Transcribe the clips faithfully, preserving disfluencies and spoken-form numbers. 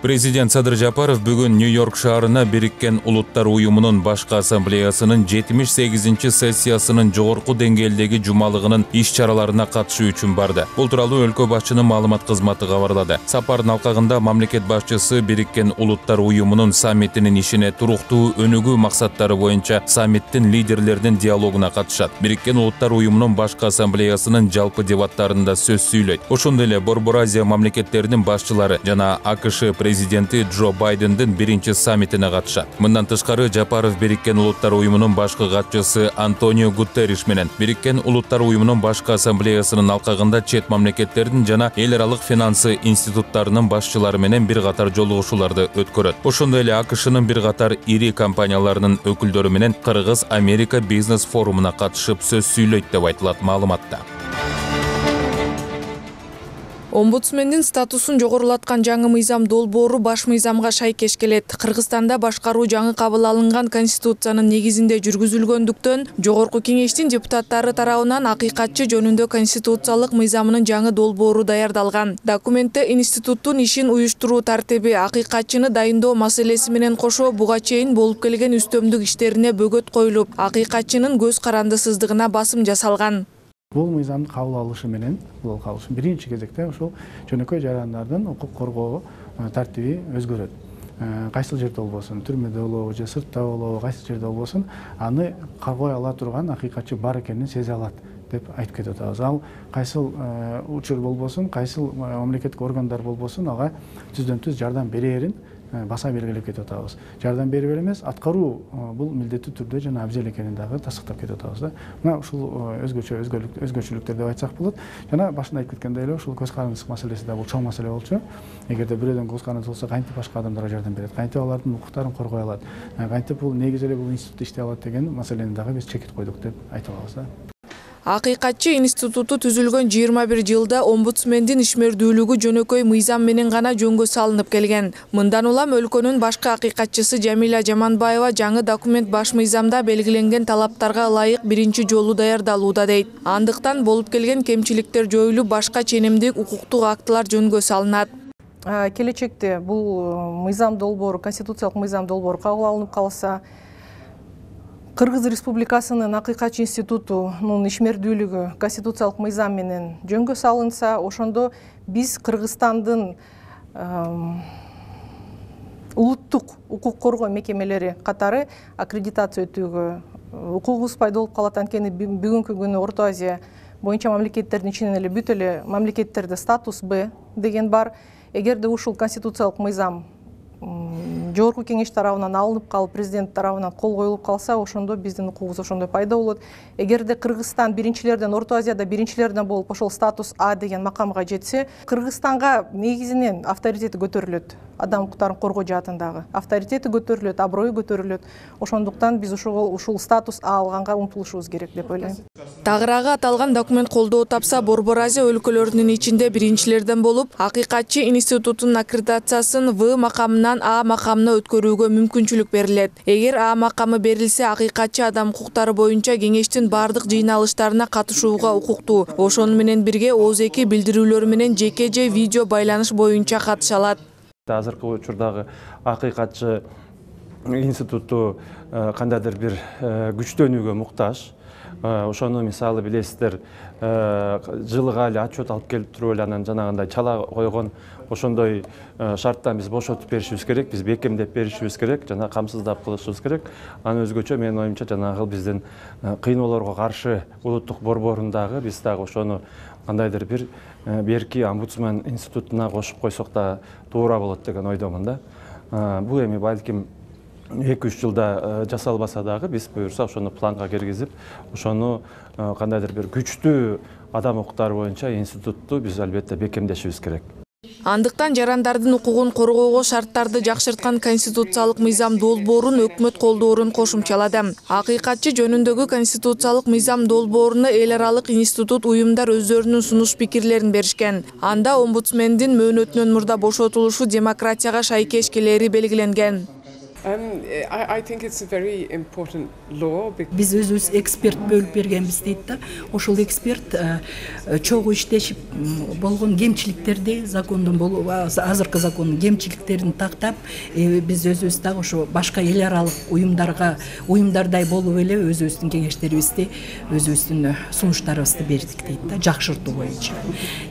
Президент Садыр Жапаров бүгүн Нью-Йорк шаарына Бириккен Улуттар уюмунун башкы ассамблеясынын жетимиш сегизинчи сессиясынын жогорку деңгээлдеги жумалыгынын иш-чараларына катышуу үчүн барды. Бул тууралуу өлкө башчынын маалымат кызматы кабарлады. Сапардын алкагында мамлекет башчысы Бириккен Улуттар уюмунун саммитинин ишине туруктуу өнүгүү максаттары боюнча саммиттин лидерлеринин диалогуна катышат. Бириккен Улуттар уюмунун башкы ассамблеясынын жалпы дебаттарында сөз сүйлөйт. Ошондой эле Борбор Азия мамлекеттеринин башчылары жана АКШ президенти Джо Байдендин биринчи саммитине катышат. Мындан тышкары Жапаров Бириккен Улуттар уюмунун башкы катчысы Антонио Гутерриш менен Бириккен Улуттар уюмунун башкы ассамблеясынын алкагында чет мамлекеттердин жана эл аралык финансы институттарынын башчылары менен бир катар жолугушууларды өткөрөт. Ошондой эле АКШнын бир катар ири компанияларынын өкүлдөрү менен Кыргыз-Америка бизнес форумуна катышып сөз сүйлөйт деп айтылат маалыматта. Омбудсмендин статусун жогорулаткан жаңы мыйзам долбоору баш мыйзамга шайкеш келет. Кыргызстанда башкаруу жаңы кабыл алынган конституциянын негизинде жүргүзүлгөндүктөн жогорку кеңештин депутаттары тарабынан акыйкатчы жөнүндө конституциялык мыйзамынын жаңы долбоору даярдалган. Документте институттун ишин уюштуруу тартиби, акыйкатчыны дайындоо маселеси менен кошо буга чейин болуп келген үстөмдүк иштерине бөгөт коюлуп, акыйкатчынын көз карандысыздыгына басым жасалган. Бул мыйзамды кабыл алышы менен, бул кабыл биринчи кезекте ошол жөнөкөй жарандардын укук коргоо тартиби өзгөрөт. Кайсыл жерде болбосун, түрмөдө болобу же сыртта болобу, кайсыл жерде болбосун, аны каргой ала турган акыйкатчы бар экенин сезе алат деп айтып кетип атабыз. Ал кайсыл учур болбосун, кайсыл мамлекеттик органдар болбосун, ага түздөн-түз жардам берерин баса белгилеп кетип атабыз. Жардам берип эмес, аткаруу бул милдеттүү түрдө жана абзел экенин дагы тастыктап кетип атабыз да. Мына ушул өзгөчө өзгөчөлүктөр деп айтсак болот. Жана башында айтып кеткендей эле ушул көз карандыск маселеси да бул чоң маселе болчу. Эгерде бирөөдөн көз карандысы болсо, кантип башка адамдарга жардам берет, кантип алардын укуктарын коргой алат, кантип бул негиз эле бул институт иштей алат деген маселени дагы биз чекит койдук деп айта алабыз да. Акыйкатчы институту түзүлгөн жыйырма бир жылда омбудсмендин ишмердүүлүгү жөнөкөй мыйзам менен гана жөнгө салынып келген. Мындан улам өлкөнүн башкы акыйкатчысы Жамиля Жаманбаева жаңы документ баш мыйзамда белгиленген талаптарга ылайык биринчи жолу даярдалууда дейт. Андыктан болуп келген кемчиликтер жоюлуп, башка ченемдик укуктук актылар жөнгө салынат. Келечекте бул мыйзам долбоору, конституциялык мыйзам долбоору кабыл алынып калса, Кыргыз Республикасынын акыйкатчы институтунун ишмердүүлүгү конституциялык мыйзам менен жөнгө салынса, ошондо биз Кыргызстандын улуттук укук коргоо мекемелери катары аккредитация өтүүгө укугубуз пайда болуп калат. Анткени бүгүнкү күнү Орто Азия боюнча мамлекеттердин ичинен эле бүт эле мамлекеттерде статус Б деген бар. Эгерде ушул конституциялык мыйзам жогорку кеңеш тарабынан алынып калып, президент тарабынан кол коюлуп калса, ошондо биздин укугубуз ошондой пайда болот. Эгерде Кыргызстан биринчилерден, Орто Азияда биринчилерден болуп, ошол статус А деген макамга жетсе, Кыргызстанга негизинен авторитети көтөрүлөт. Адам укуктарын коргоо жаатындагы авторитети көтөрүлөт, аброю көтөрүлөт. Ошондуктан биз ушул ушул статус А алганга умтулушубуз керек деп ойлойм. Тагыраагы аталган документ колдоо тапса, Борбор Азия өлкөлөрүнүн ичинде биринчилерден болуп, акыйкатчы институтунун аккредитациясын В макамынан А макамына өткөрүүгө мүмкүнчүлүк берилет. Эгер А макамы берилсе, акыйкатчы адам укуктары боюнча кеңештин бардык жыйналыштарына катышууга укуктуу. Ошону менен бирге Ооз-эки билдирүүлөр менен жеке же видео байланыш боюнча катыша алат. Азыркы учурдагы акыйкатчы институту кандайдыр бир күчтөнүүгө муктаж. Ошону мисалы билесиздер, жылыга эле отчет алып келип туруп эле анан жанагындай чала койгон ошондой шарттан биз бошотуп беришибиз керек, биз бекемдеп беришибиз керек, жана камсыздап кылышыбыз керек. Анын өзгөчө менин оюмча жанагы биздин кыйноолорго каршы улуттук борборундагы биз дагы ошону кандайдыр бир берки омбудсмен институтуна кошуп койсок да туура болот деген ойдомун да. Бул эми балким эки үч жылда жасалбаса дагы биз буюрса ошону планга киргизип, ошону кандайдыр бир күчтүү адам укуктары боюнча институтту биз албетте бекемдешибиз керек. Андыктан жарандардын укугун коргоого шарттарды жакшырткан конституциялык мыйзам долбоорун өкмөт колдоорун кошумчалады. Акыйкатчы жөнүндөгү конституциялык мыйзам долбооруна эл аралык институт уюмдар өздөрүнүн сунуш пикирлерин беришкен. Анда омбудсмендин мөөнөтүнөн мурда бошотулушу демократияга шайкеш келери белгиленген. Биз өзүбүз эксперт бөлүп бергенбиз дейт да. Ошол эксперт чогуу иштешип болгон кемчиликтерди закондон болуп, азыркы закондун кемчиликтерин тактап, биз өзүбүз дагы ошо башка эл аралык уюмдарга, уюмдардай болуп эле өзүбүздүн кеңештерибизди, өзүбүздүн сунуштарыбызды бердик дейт да, жакшыртуу боюнча.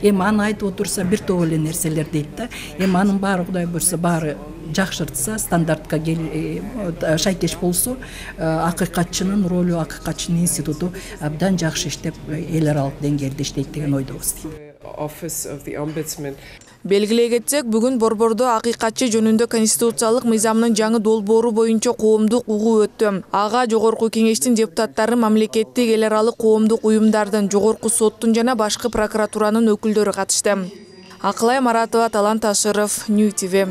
Эми аны айтып отурса бир топ эле нерселер дейт да. Эми анын баары Кудай буйрса баары жакшыртса, стандартка шайкеш болсо, акыйкатчынын ролу, акыйкатчынын институту абдан жакшы иштеп, эл аралык деңгээлде иштейт деген ойдобуз. Белгилей кетсек, бүгүн Борбордо акыйкатчы жөнүндө конституциялык мыйзамдын жаңы долбоору боюнча коомдук угуу өттү. Ага Жогорку Кеңештин депутаттары, мамлекеттик эл аралык коомдук уюмдардын, Жогорку соттун жана башкы прокуратуранын өкүлдөрү катышты. Акылай Маратова, Талант Ташыров, Нью ти ви.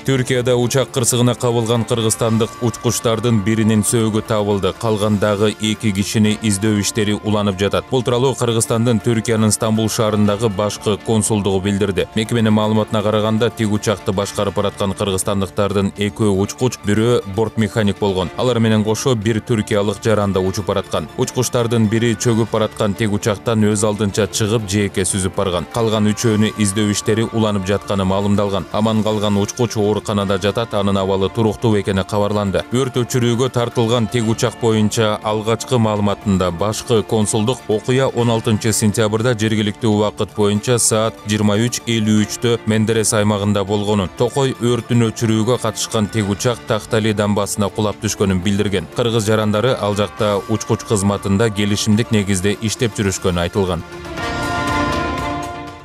Түркияда учак кырсыгына кабылган кыргызстандык учкучтардын биринин сөөгү табылды. Калгандагы эки кишини издөө иштери уланып жатат. Бул тууралуу Кыргызстандын Түркиянын Стамбул шаарындагы башкы консулдугу билдирди. Мекеменин маалыматына караганда, тиг учакты башкарып бараткан кыргызстандыктардын экөө учкуч, бирөө борт механик болгон. Алар менен кошо бир түркиялык жаранда учуп бараткан. Учкучтардын бири чөгүп бараткан тиг учактан өз алдынча чыгып, жээкке сүзүп барган. Калган үчөөнү издөө иштери уланып жатканы маалымдалган. Аман калган учкуч ооруканада жатат, анын абалы туруктуу экени кабарланды. Өрт өчүрүүгө тартылган тиг учак боюнча алгачкы маалыматында башкы консулдук окуя он алтынчы сентябрда жергиликтүү убакыт боюнча саат жыйырма үч элүү үчтө Мендерес аймагында болгонун, Токой өртүн өчүрүүгө катышкан тиг учак Тактали дамбасына кулап түшкөнүн билдирген. Кыргыз жарандары ал жакта учкуч кызматында келишимдик негизде иштеп жүрүшкөнү айтылган.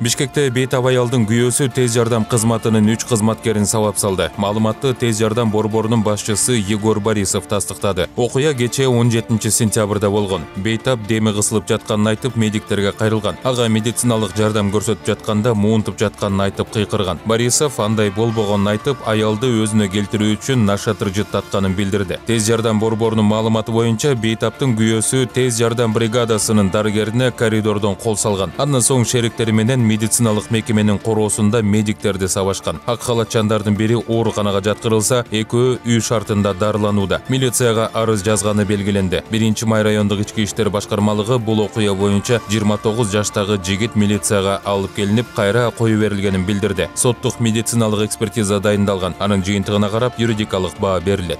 Бишкекте бейтап аялдын күйөөсү тез жардам кызматынын үч кызматкерин сабап салды. Маалыматты тез жардам борборунун башчысы Егор Борисов тастыктады. Окуя кечээ он жетинчи сентябрда болгон. Бейтап деми кысылып жатканын айтып, медиктерге кайрылган. Ага медициналык жардам көрсөтүп жатканда муунтуп жатканын айтып кыйкырган. Борисов андай болбогонун айтып, аялды өзүнө келтирүү үчүн нашатыр жыттатканын билдирди. Тез жардам борборунун маалыматы боюнча, бейтаптын күйөөсү тез жардам бригадасынын дарыгерине коридордон кол салган. Андан соң шериктери менен медициналык мекеменин короосунда медиктерди сабашкан. Ак халатчандардын бири ооруканага жаткырылса, экөө үй шартында дарыланууда. Милицияга арыз жазганы белгиленди. биринчи май райондук ички иштер башкармалыгы бул окуя боюнча жыйырма тогуз жаштагы жигит милицияга алып келинип, кайра кое берилгенин билдирди. Соттук медициналык экспертиза дайындалган. Анын жыйынтыгына карап юридикалык баа берилет.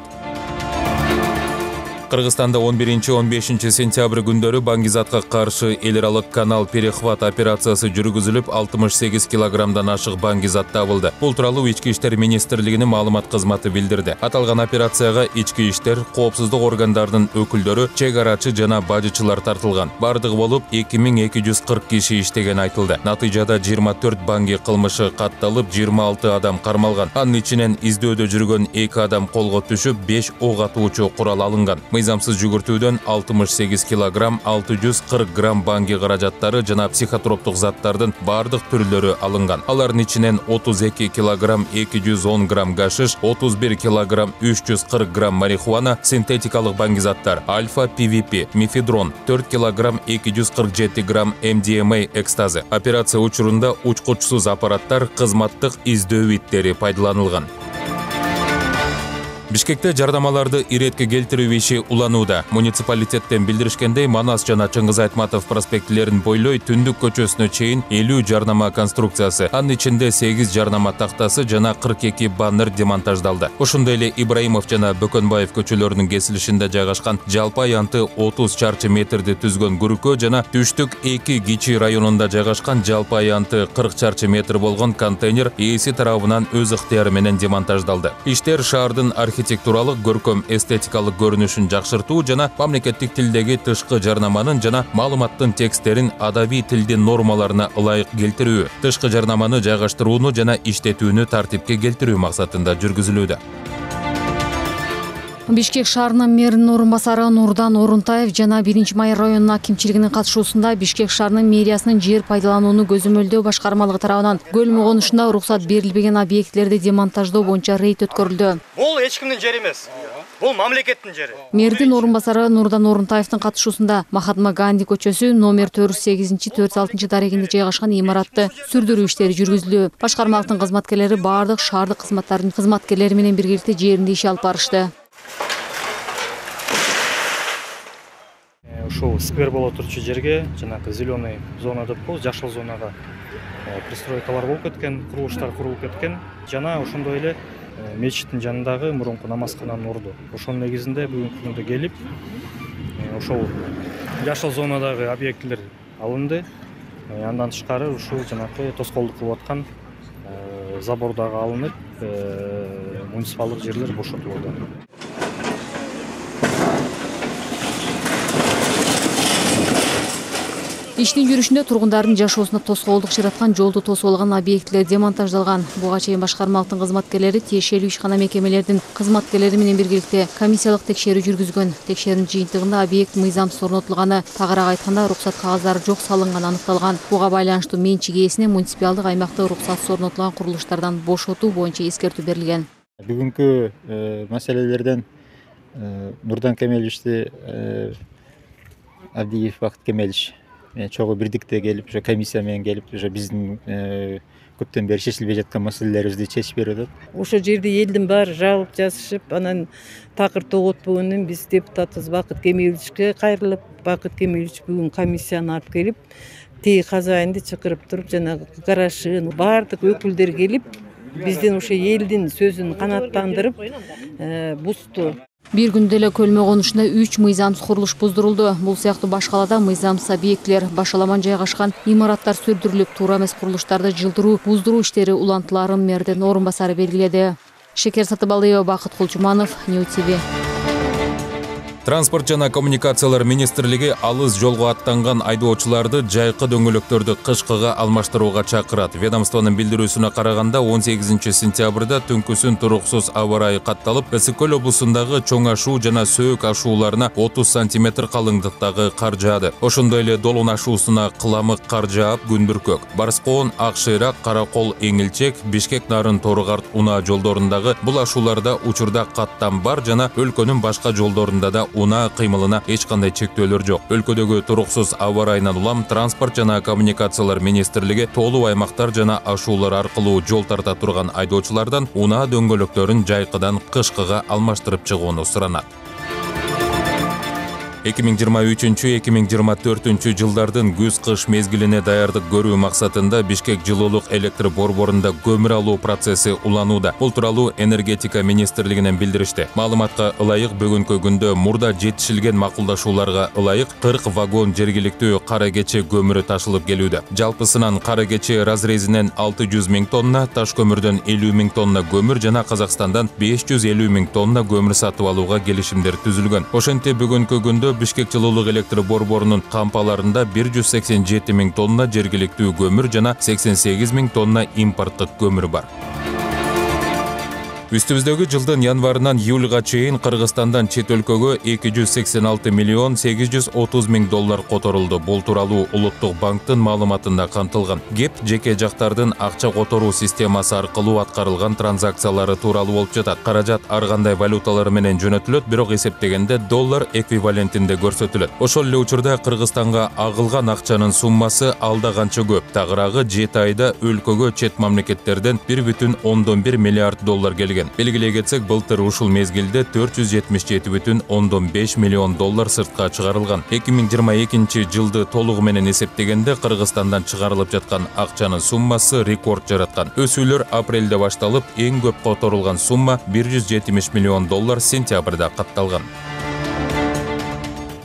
Кыргызстанда он биринчи он бешинчи сентябрь күндөрү баңгизатка каршы эл аралык канал перехват операциясы жүргүзүлүп, алтымыш сегиз килограммдан ашык баңгизат табылды. Бул тууралуу Ички иштер министрлигинин маалымат кызматы билдирди. Аталган операцияга ички иштер, коопсуздук органдарынын өкүлдөрү, чек арачы жана бажычылар тартылган. Бардыгы болуп эки миң эки жүз кырк киши иштеген айтылды. Натыйжада жыйырма төрт баңги кылмышы катталып, жыйырма алты адам кармалган. Анын ичинен издөөдө жүргөн эки адам колго түшүп, беш ок атуучу курал алынган. Мыйзамсыз жүгүртүүдөн алтымыш сегиз килограмм алты жүз кырк грамм баңги каражаттары жана психотроптук заттардын бардык түрлөрү алынган. Алардын ичинен отуз эки килограмм эки жүз он грамм гашиш, отуз бир килограмм үч жүз кырк грамм марихуана, синтетикалык баңгизаттар, альфа пи ви пи, мефедрон, төрт килограмм эки жүз кырк жети грамм эм ди эм а экстазы. Операция учурунда учкучсуз аппараттар, кызматтык издөө иттери пайдаланылган. Бишкекте жардамаларды иретке келтирүү иши уланууда. Муниципалитеттен билдиришкендей, Манас жана Чыңгыз Айтматов проспектилерин бойлой Түндүк көчөсүнө чейин элүү жарнама конструкциясы, анын ичинде сегиз жарнама тактасы жана кырк эки баннер демонтаждалды. Ошондой эле Ибраимов жана Бөкөнбаев көчөлөрүнүн кесилишинде жайгашкан жалпы аянты отуз чарчы метрди түзгөн Күрүкө жана Түштүк эки Кичи районунда жайгашкан жалпы аянты кырк чарчы метр болгон контейнер ээси тарабынан өз ыктыяры менен демонтаждалды. Иштер шаардын архитектуралык, көркөм эстетикалык көрүнүшүн жакшыртуу жана мамлекеттик тилдеги тышкы жарнаманын жана маалыматтын тексттерин адабий тилдин нормаларына ылайык келтирүү, тышкы жарнаманы жайгаштырууну жана иштетүүнү тартипке келтирүү максатында жүргүзүлүүдө. Бишкек шаарынын мэринин орун басары Нурдан Орунтаев жана биринчи май районунун акимчилигинин катышуусунда Бишкек шаарынын мэриясынын жер пайдаланууну көзөмөлдөө башкармалыгы тарабынан Көлмө конушунда уруксат берилбеген объектилерди демонтаждоо боюнча рейд өткөрүлдү. Бул эч кимдин жери эмес. Бул мамлекеттин жери. Мэрдин орун басары Нурдан Орунтаевдин катышуусунда Махатма Ганди көчөсү номер төрт жүз сегизинчи төрт жүз алтынчы дарегинде жайгашкан имаратты сүрдүрүү иштери жүргүзүлдү. Башкармалыктын кызматкерлери баардык шаардык кызматтардын кызматкерлери менен биргеликте жеринде иш алып барышты. Ушул сквер боло турчу жерге жанагы зеленый зона деп коебуз, жашыл зонага пристройкалар болуп кеткен, курулуштар курулуп кеткен. Жана ошондой эле мечиттин жанындагы мурунку намазкананын орду. Ошонун негизинде бүгүнкү күндө келип, ошол жашыл зонадагы объектилер алынды. Андан тышкары ушул жанагы тоскоолдук кылып аткан забор дагы алынып, муниципалдык жерлер бошотулду. Иштин жүрүшүндө тургундардын жашоосуна тоскоолдук жараткан жолду тосуп алган объектилер демонтаждалган. Буга чейин башкармалыктын кызматкерлери тиешелүү ишкана мекемелердин кызматкерлери менен биргеликте комиссиялык текшерүү жүргүзгөн. Текшерүүнүн жыйынтыгында объект мыйзамсыз орнотулганы, тагыраак айтканда уруксат кагаздары жок салынганы аныкталган. Буга байланыштуу менчик ээсине муниципалдык аймакта уруксатсыз орнотулган курулуштардан бошотуу боюнча эскертүү берилген. Бүгүнкү маселелерден Нурдан Кемеличти Абдиев Бакыт Кемелич чогуу бирдикте келип, ошо комиссия менен келип, ошо биздин көптөн бери чечилбей жаткан маселелерибизди чечип берип атат. Ошол жерде элдин баары жабылып жазышып, анан такыр тоготпогондон биз депутатыбыз Бакыт Кемеличке кайрылып, Бакыт Кемелич бүгүн комиссияны алып келип, тээ казайынды чакырып туруп, жанагы гаражын баардык өкүлдөр келип, биздин ошо элдин сөзүн канааттандырып, бузду. Бир күндө эле Көлмө конушунда үч мыйзамсыз курулуш буздурулду. Бул сыяктуу башкалада мыйзамсыз объектилер, башаламан жайгашкан имараттар сүрдүрүлүп, туура эмес курулуштарды жылдыруу, буздуруу иштери улантыларын мэрдин орун басары белгиледи. Шекер Сатыбалыева, Бакыт Кулчуманов, Нью ти ви. Транспорт жана коммуникациялар министрлиги алыс жолго аттанган айдоочуларды жайкы дөңгөлөктөрдү кышкыга алмаштырууга чакырат. Ведомствонун билдирүүсүнө караганда он сегизинчи сентябрда түнкүсүн туруксуз аба ырайы катталып, Ысык Көл облусундагы чоң ашуу жана сөөк ашууларына отуз сантиметр калыңдыктагы кар жаады. Ошондой эле Долун ашуусуна кыламык кар жаап, күн бүркөк. Барскоон, Ак Шыйрак, Каракол, Эңилчек, Бишкек Нарын Торугарт унаа жолдорундагы бул ашууларда учурда каттам бар жана өлкөнүн башка жолдорунда да унаа кыймылына эч кандай чектөөлөр жок. Өлкөдөгү туруксуз аба ырайынан улам транспорт жана коммуникациялар министрлиги тоолуу аймактар жана ашуулар аркылуу жол тарта турган айдоочулардан унаа дөңгөлөктөрүн жайкыдан кышкыга алмаштырып чыгууну суранат. эки миң жыйырма үчүнчү эки миң жыйырма төртүнчү жылдардын күз-кыш мезгилине даярдык көрүү максатында Бишкек жылуулук электр борборунда көмүр алуу процесси уланууда. Бул тууралуу энергетика министрлигинен билдиришти. Маалыматка ылайык бүгүнкү күндө мурда жетишилген макулдашууларга ылайык кырк вагон жергиликтүү кара кече көмүрү ташылып келүүдө. Жалпысынан кара кече разрезинен алты жүз миң тонна, таш көмүрдөн элүү миң тонна көмүр жана Казакстандан беш жүз элүү миң тонна көмүр сатып алууга келишимдер түзүлгөн. Ошентип бүгүнкү күндө Бишкек жылуулук электр борборунун кампаларында бир жүз сексен жети миң тонна жергиликтүү көмүр жана сексен сегиз миң тонна импорттук көмүр бар. Үстүбүздөгү жылдын январынан июлга чейин Кыргызстандан чет өлкөгө эки жүз сексен алты миллион сегиз жүз отуз миң доллар которулду. Бул тууралуу Улуттук банктын маалыматында камтылган. Кеп жеке жактардын акча которуу системасы аркылуу аткарылган транзакциялары тууралуу болуп жатат. Каражат ар кандай валюталар менен жөнөтүлөт, бирок эсептегенде доллар эквивалентинде көрсөтүлөт. Ошол эле учурда Кыргызстанга агылган акчанын суммасы алда канча көп. Тагыраагы жети айда өлкөгө чет мамлекеттерден бир бүтүн ондон бир миллиард доллар келген. Белгилей кетсек, былтыр ушул мезгилде төрт жүз жетимиш жети бүтүн ондон беш миллион доллар сыртка чыгарылган. эки миң жыйырма экинчи жылды толугу менен эсептегенде Кыргызстандан чыгарылып жаткан акчанын суммасы рекорд жараткан. Өсүүлөр апрелде башталып, эң көп которулган сумма бир жүз жетимиш миллион доллар сентябрда катталган.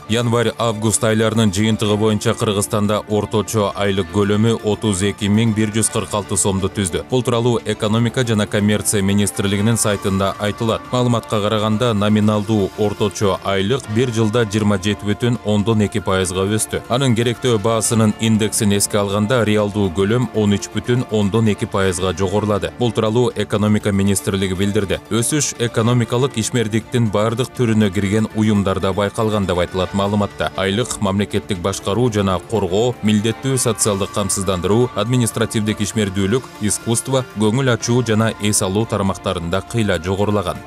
Январь-август айларынын жыйынтыгы боюнча Кыргызстанда орточо айлык көлөмү отуз эки миң бир жүз кырк алты сомду түздү. Бул тууралуу экономика жана коммерция министрлигинин сайтында айтылат. Маалыматка караганда номиналдуу орточо айлык бир жылда жыйырма жети бүтүн ондон эки пайызга өстү. Анын керектөө баасынын индексин эске алганда реалдуу көлөм он үч бүтүн ондон эки пайызга жогорулады. Бул тууралуу экономика министрлиги билдирди. Өсүш экономикалык ишмердиктин бардык түрүнө кирген уюмдарда байкалган деп айтылат маалыматта. Айлык мамлекеттик башкаруу жана коргоо, милдеттүү социалдык камсыздандыруу, административдик ишмердүүлүк, искусство, көңүл ачуу жана эс алуу тармактарында кыйла жогорулаган.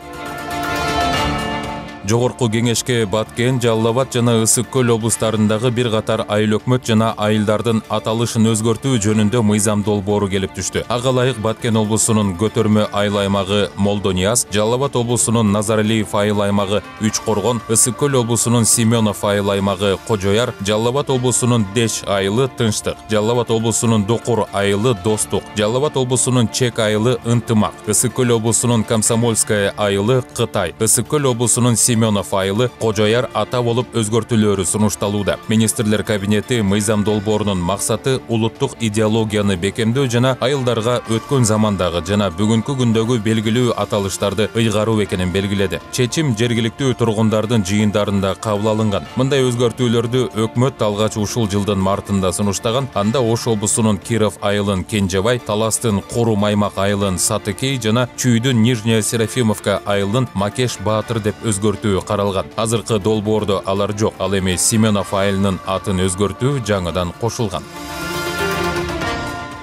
Жогорку кеңешке Баткен, Жалал Абад жана Ысык көл облустарындагы бир катар айыл өкмөт жана айылдардын аталышын өзгөртүү жөнүндө мыйзам долбоору келип түштү. Ага ылайык Баткен облусунун Көтөрмө айыл аймагы Молдонияз, Жалал Абад облусунун Назаралиев айыл аймагы Үч Коргон, Ысык көл облусунун Семенов айыл аймагы Кожояр, Жалал Абад облусунун Деш айылы Тынчтык, Жалал Абад облусунун Докур айылы Достук, Жалал Абад облусунун Чек айылы Ынтымак, Ысык көл облусунун Комсомольская айылы Кытай, Ысык көл облусунун Семенов айылы Кожояр ата болуп өзгөртүлөөрү сунушталууда. Министрлер кабинети мыйзам долбоорунун максаты улуттук идеологияны бекемдөө жана айылдарга өткөн замандагы жана бүгүнкү күндөгү белгилүү аталыштарды ыйгаруу экенин белгиледи. Чечим жергиликтүү тургундардын жыйындарында кабыл алынган. Мындай өзгөртүүлөрдү өкмөт алгач ушул жылдын мартында сунуштаган. Анда Ош облусунун Киров айылын Кенжебай, Таластын Куру Маймак айылын Сатыкей жана Чүйдүн Нижняя Серафимовка айылын Макеш Баатыр деп өзгөртүү каралган. Азыркы долбоордо алар жок. Ал эми Семенов айылынын атын өзгөртүү жаңыдан кошулган.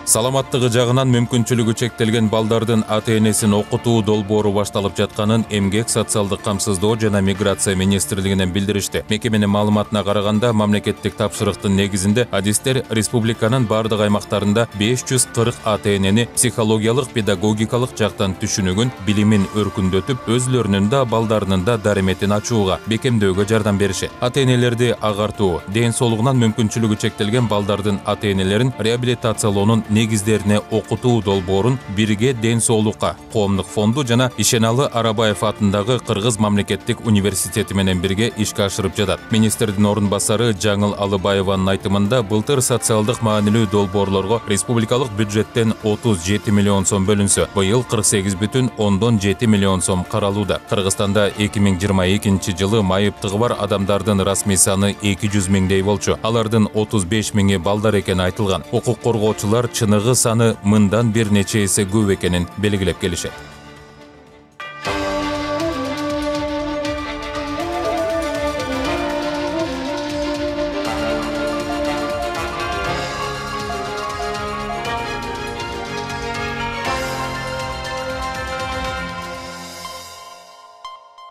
Саламаттыгы жагынан мүмкүнчүлүгү чектелген балдардын ата-энесин окутуу долбоору башталып жатканын Эмгек, социалдык камсыздоо жана миграция министрлигинен билдиришти. Мекеменин маалыматына караганда, мамлекеттик тапшырыктын негизинде адистер республиканын бардык аймактарында беш жүз кырк ата-энени психологиялык, педагогикалык жактан түшүнүгүн, билимин өркүндөтүп, өзлөрүнүн да балдарынын да дарыметин ачууга, бекемдөөгө жардам беришет. Ата-энелерди агартуу, ден соолугунан мүмкүнчүлүгү чектелген балдардын ата-энелерин реабилитациялоонун негиздерине окутуу долбоорун Бирге ден соолукка коомдук фонду жана Ишеналы Арабаев атындагы Кыргыз мамлекеттик университети менен бирге ишке ашырып жатат. Министрдин орун басары Жаңыл Алыбаеванын айтымында, былтыр социалдык маанилүү долбоорлорго республикалык бюджеттен отуз жети миллион сом бөлүнсө, быйыл кырк сегиз бүтүн ондон жети миллион сом каралууда. Кыргызстанда эки миң жыйырма экинчи жылы майыптыгы бар адамдардын расмий саны эки жүз миңдей болчу. Алардын отуз беш миңи балдар экени айтылган. Укук коргоочулар чыныгы саны мындан бир нече эсе көп экенин белгилеп келишет.